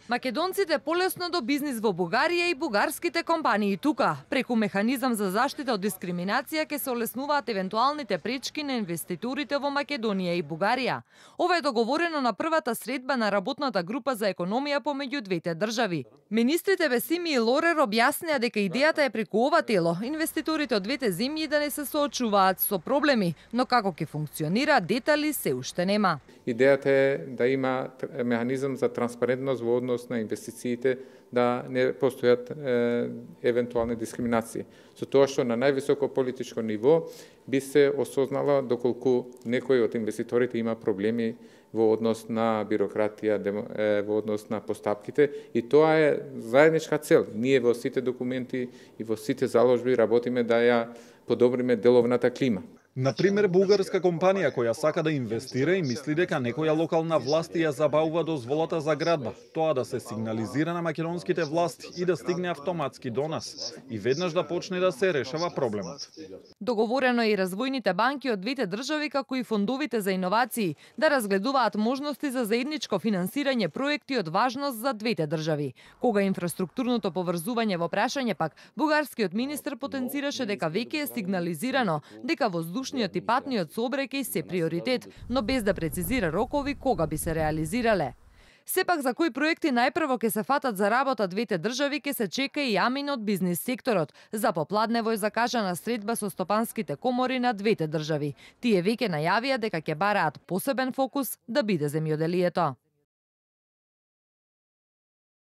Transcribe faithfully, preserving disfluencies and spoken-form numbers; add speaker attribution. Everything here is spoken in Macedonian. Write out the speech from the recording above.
Speaker 1: Македонците полесно до бизнис во Бугарија и бугарските компании тука. Преку механизам за заштита од дискриминација ќе се олеснуваат евентуалните пречки на инвеститорите во Македонија и Бугарија. Ова е договорено на првата средба на работната група за економија помеѓу двете држави. Министрите Бесими и Лорер објаснија дека идејата е преку ова тело инвеститорите од двете земји да не се соочуваат со проблеми, но како ќе функционира, детали се уште нема.
Speaker 2: Идејата е да има механизам за транспарентност во однос на инвестициите, да не постојат е, евентуални дискриминации. Со тоа што на највисоко политичко ниво би се осознало доколку некој од инвеститорите има проблеми во однос на бирократија, во однос на постапките, и тоа е заедничка цел. Ние во сите документи и во сите заложби работиме да ја подобриме деловната клима.
Speaker 3: Например, бугарска компанија која сака да инвестира и мисли дека некоја локална власт ја забавува дозволата за градба, тоа да се сигнализира на македонските власти и да стигне автоматски до нас и веднаш да почне да се решава проблемот.
Speaker 1: Договорено е и развојните банки од двете држави како и фондовите за иновации да разгледуваат можности за заедничко финансирање проекти од важност за двете држави. Кога инфраструктурното поврзување во прашање пак, бугарскиот министер потенцираше дека веќе е сигнализирано дека воздушниот и патниот сообраќај се приоритет, но без да прецизира рокови кога би се реализирале. Сепак за кои проекти најпрво ќе се фатат за работа двете држави ќе се чека и јамин од бизнис секторот. За попладнево е закажана средба со стопанските комори на двете држави. Тие веќе најавија дека ќе бараат посебен фокус да биде земјоделието.